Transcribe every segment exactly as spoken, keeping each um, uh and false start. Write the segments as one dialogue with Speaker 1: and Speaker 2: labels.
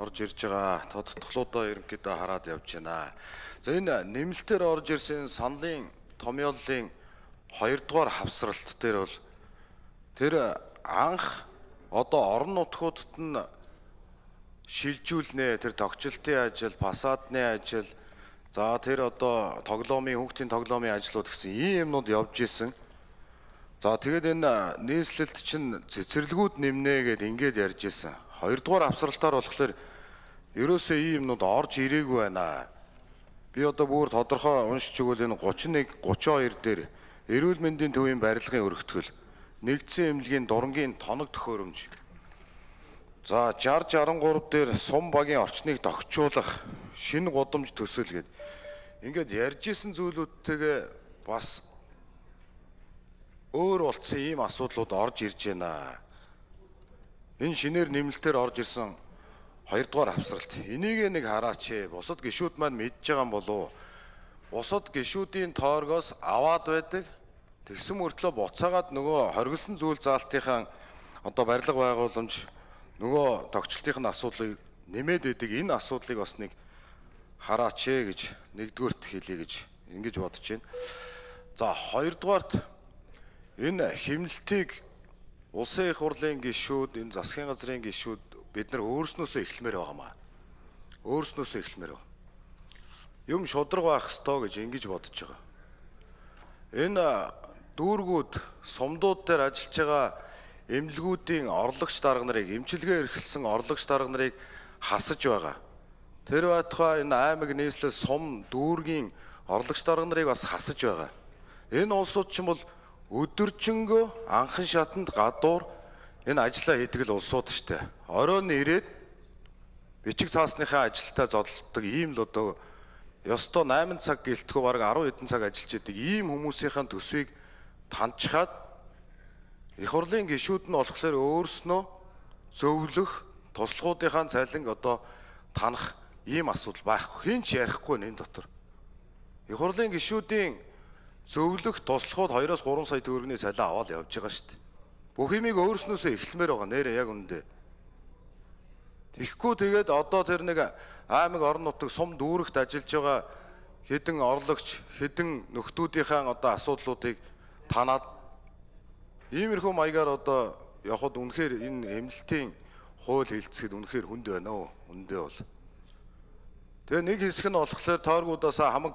Speaker 1: орж ирж байгаа тодтголуудаа ерөнхийдөө хараад явж байна. За энэ нэмэлтээр орж ирсэн саналын томьёоллын хоёрдугаар хавсралт дээр бол тэр анх одоо орон нутгуудад нь шилжүүлнэ, тэр тогтчлтын ажил, фасадны ажил, за тэр одоо тоглоомын хүүхдийн тоглоомын ажлууд гэсэн ийм юмнууд явж исэн. За тэгээд энэ нийслэлд чинь цэцэрлэгүүд нэмнэ гэд ингээд ярьж исэн. Хоёрдугаар авсралтаар болохоор ерөөсөө ийм юмнууд орж ирээгүй байна. Би одоо бүр тодорхой уншиж өгвөл энэ гучин нэг гучин хоёр дээр эрүүл мэндийн төвийн барилгын өргөтгөл, нэгдсэн эмнэлгийн дурангийн тоног төхөөрөмж. За шестьдесят шестьдесят три дээр сум багийн орчныг догчуулах шинэ гудамж төсөл гээд ингээд ярьж исэн зүйлүүдтэйгээ бас өөр болцсон ийм асуудлууд орж ирж байна. Энэ шинээр нэмэлтээр орж ирсэн хоёрдугаар авсралт. Энийг нэг хараач ээ. Бусад гишүүд маань мэдж байгаа юм болов уу? Бусад гишүүдийн тооргоос аваад байдаг. Тэгсэн мөртлөө буцаагаад нөгөө хоригдсан зүйл заалтынхаа одоо барилга байгууламж нөгөө тогтчлтын асуудлыг нэмээд байдаг. Энэ асуудлыг бас нэг хараач ээ гэж нэгдүгээрт хэлье гэж ингэж бодож байна. За хоёрдугаарт энэ хэмнэлтийг улсын их хурлын гишүүд, энэ засгийн газрын гишүүд бид нар өөрснөөсөө эхлэмээр байгаамаа. Өөрснөөсөө эхлэмээр байна. Юм шудраг байх ёстой гэж ингэж бодож байгаа. Энэ дүүргүүд, сумдууд дээр ажиллаж байгаа эмнэлгүүдийн орлогч дарга нарыг, эмчилгээ эрхэлсэн орлогч дарга нарыг хасаж байгаа. Тэр байтугай энэ аймаг нийслэл сум дүүргийн орлогч дарга нарыг бас хасаж байгаа. Энэ улсууд ч юм бол өдөржингөө анхан шатанд гадуур энэ ажиллаа хийдэг л улсууд штэ. Оройн ирээд бичиг цаасныхаа ажилтаа зодтолдог ийм л одоо ёстой найман цаг гэлтгүй бараг арван хэдэн цаг ажиллаж идэг ийм хүмүүсийн төсвийг таньчхаад их хурлын гишүүд нь болохоор өөрснөө зөвлөх туслахуудынхаа цалин одоо танах ийм асуудал байхгүй. Хэн ч ярихгүй энэ дотор. Их хурлын гишүүдийн зөвлөх туслахууд двоёроос гурван сая төгрөгийн цалин аваад явж байгаа шүү дээ. Бүх юмыг өөрснөөсөө эхлэмээр байгаа нэрээ яг үндэ. Тэгэхгүй тэгээд одоо тэр нэг аймаг орон нутаг сум дүүрэгт ажиллаж байгаа хэдэн орлогч, хэдэн нөхдүүдийнхээ одоо асуудлуудыг танаад иймэрхүү маягаар одоо явхад үнэхээр энэ эмнэлтийн хууль хэлцэхэд үнэхээр хүнд байна уу? Үндэ бол. Тэгээ нэг хэсэг нь болохоор тойргуудаас хамаг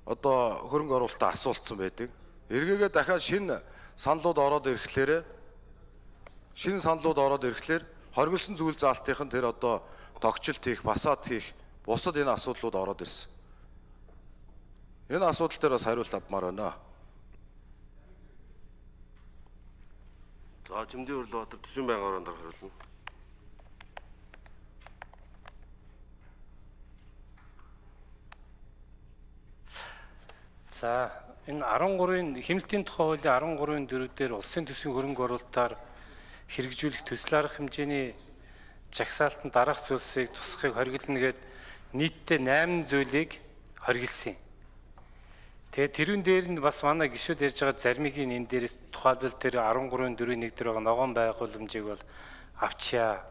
Speaker 1: одоо хөрөнгө оруулалтаа асуулцсан байдаг. Эргээгээ дахиад шинэ саналууд ороод ирэхлээр шинэ саналууд ороод ирэхлээр хоригдсан зүйл заалтынх нь тэр одоо тогтчлт хийх, фасад хийх, бусад энэ асуудлууд ороод ирсэн. Энэ асуудал дээр бас хариулт авмаар байна.
Speaker 2: За Жимдийн Өрлөбаатар төсвийн байнгын ороонд хариулна.
Speaker 3: За энэ арван гурвын хэмнэлтийн тухай хуулийн арван гурвын дөрөв дээр улсын төсвийн хөрөнгө оруулалтаар хэрэгжүүлэх төсөл арга хэмжээний жагсаалтанд дараах зүйлсийг тусахыг хоригдолно гээд нийтдээ найман зүйлийг хоригдсан. Тэгээд тэрүүн дээр нь бас манай гишүүд ярьж байгаа зармигийн энэ дээрээс тухайлбал тэр арван гурвын дөрвийн нэг дээр байгаа ногоон байгууламжийг бол авчия.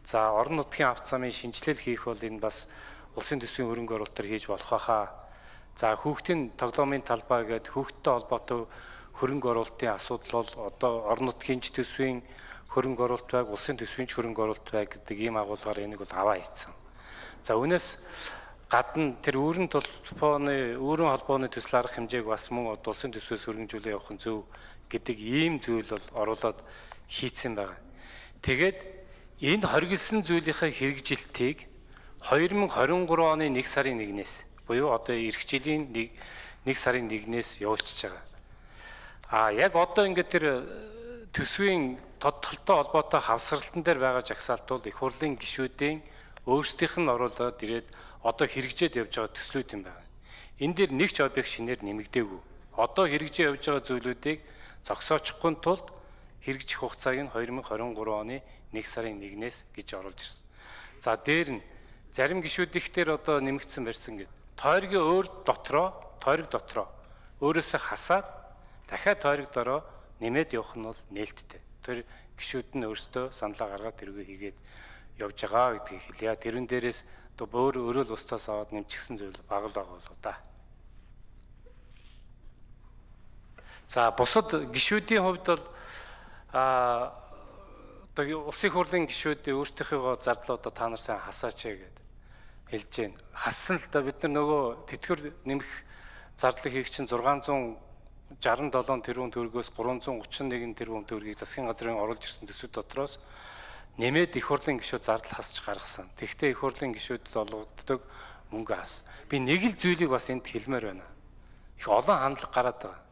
Speaker 3: За орон нутгийн авто замын шинжилэл хийх бол энэ бас улсын төсвийн хөрөнгө оруулалтаар хийж болох байхаа. За хүүхдийн тоглоомын талбай гээд хүүхдтэй холбоотой хөрөнгө оруулалтын асуудал бол одоо орон нутгийн төсвийн хөрөнгө оруулалт байг, улсын төсвийн хөрөнгө оруулалт байг гэдэг ийм агуулгаар энийг бол аваа хийцэн. За үүнээс гадна тэр өөрийн толгойн өөрийн холбооны төсөл арга хэмжээг бас мөн улсын төсвөөс хөргөжүүлээ явах нь зөв гэдэг ийм зүйл бол оруулаад хийцэн байгаа. Тэгээд энэ хоригдсан зүйлийнхээ хэрэгжилтийг две тысячи двадцать три оны нэг сарын нэгнээс буюу одоо эх жилийн нэг сарын нэгнээс явуулчихж байгаа. А яг одоо ингээд тэр төсвийн тодтолтой холбоотой хавсралтан дээр байгаа жагсаалт бол их хурлын гишүүдийн өөрсдийнх нь оруулаад ирээд одоо хэрэгжээд явж байгаа төслүүд юм байна. Энэ дээр нэг ч объект шинээр нэмэгдээгүй. Одоо хэрэгжиж явж байгаа зүйлүүдийг зогсоочихгүй тулд хэрэгжих хугацааг нь две тысячи двадцать три оны нэг сарын нэгнээс гэж оруулж ирсэн. За дээр нь зарим гишүүд их дээр одоо нэмэгдсэн барьсан гэдэг. Тойргийн өөр дотроо, тойрог дотроо өөрөөсөө хасаад дахиад тойрог дороо нэмээд явах нь бол нээлттэй. Тэр гишүүд нь өөрсдөө саналаа гаргаад тэргээ хийгээд явж байгаа гэдгийг хэлье. Тэрэн дээрээс одоо өөр өрөөл устаас аваад нэмчихсэн зүйл бага л байгаа болоо да. За бусад гишүүдийн хувьд бол а одоо улсын их хурлын гишүүд өөрсдийнхөө зардлуудаа та нар сайн хасаач гэдэг хэлж байна. Хассан л да бид нар нөгөө тэтгэр нэмэх зардлыг хийх чинь зургаан зуун жаран долоон тэрбум төгрөгөөс гурван зуун гучин нэгэн тэрбум төгрөгийг засгийн газрын оруулж ирсэн төсвүүд дотроос нэмээд их хурлын гишүүд зардал хасч гаргасан. Тэгвэл их хурлын гишүүдэд олгогддог мөнгө хас. Би нэг л зүйлийг бас энд хэлмээр байна. Их олон хандлага гараад байгаа.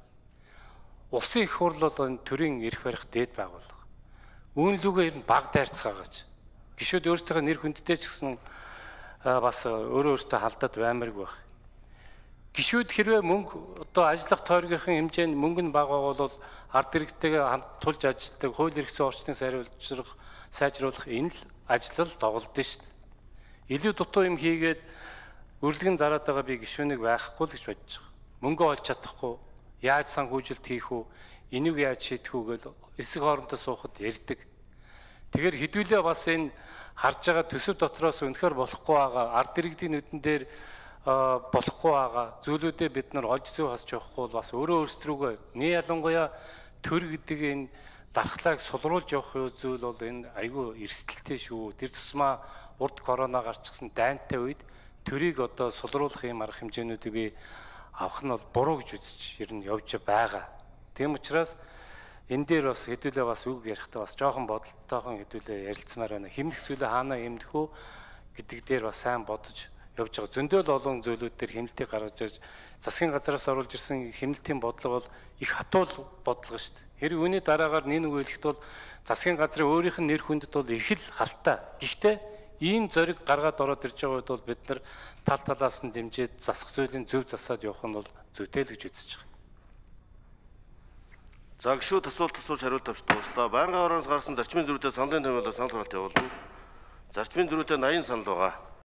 Speaker 3: Улсын их хурл бол энэ төрийн эрх барих дээд байгууллага. Үүнлүүгээр нь баг дайрцгаагаач. Гишүүд өөрсдийнхөө нэр хүндтэй ч гэсэн бас өөрөө өөртөө халдаад баймарг байх. Гишүүд хэрвээ мөнгө одоо ажиллах тойргийнхын хэмжээнд мөнгө нь бага бол ард иргэдтэйгээ хамт тулж ажилладаг хууль эрх зүйн орчныг сайжруулах сайжруулах энэ л ажил тоглолт нь шүү дээ. Илүү дутуу юм хийгээд өрлөгн зараад байгаа би гишүүнийг байхгүй л гэж бодож байгаа. Мөнгө олж чадахгүй, яаж санхүүжилт хийх үү, энийг яаж шийдэх үү гэж эсэг хоорондоо суухад ярьдаг. Тэгэхээр хэдүүлээ бас энэ харж байгаа төсөв дотроос үнэхээр болохгүй байгаа ард иргэдийн нүдэн дээр болохгүй байгаа зүйлүүдээ бид нар олж зүй хасч явахгүй бол бас өөрөө өөрсдрүүгөө нэг ялангуяа төр гэдэг энэ дархлааг сулруулж явах зүйл бол энэ айгүй эрсдэлтэй шүү. Тэр тусмаа урд корона гарчихсан дайнтай үед төрийг одоо сулруулах юм арга хэмжээнүүдийг би авах нь бол буруу гэж үзэж ер нь явж байгаа. Тийм учраас энэ дээр бас хэдүүлээ бас үг ярихдаа бас жоохон бодолтойхон хэдүүлээ ярилцмаар байна. Хэмнэх зүйлээ хаанаа хэмнэх үү гэдэг дээр бас сайн бодож явж байгаа. Зөндөл олон зүйлүүд дээр хэмнэлтийг гаргаж ирж засгийн газраас оруулж ирсэн хэмнэлтийн бодлого бол их хатуул бодлого шүү дээ. Хэрэг үүний дараагаар нэг нэг үйлэхт бол засгийн газрын өөрийнх нь нэр хүндэд бол их л халтай. Гэхдээ ийм зориг гаргаад ороод ирж байгаа үед бол бид нар тал талаас нь дэмжиж засах зүйлийн зөв засаад явах нь бол зүйтэй л гэж үзэж байгаа.
Speaker 2: За гишүүд асуулт асууж хариулт авч дууслаа. Байнгын орооноос гарсан зарчмын зөрүүтэй саналын томьёолоор санал хураалт явуулна. Зарчмын зөрүүтэй наян санал байгаа.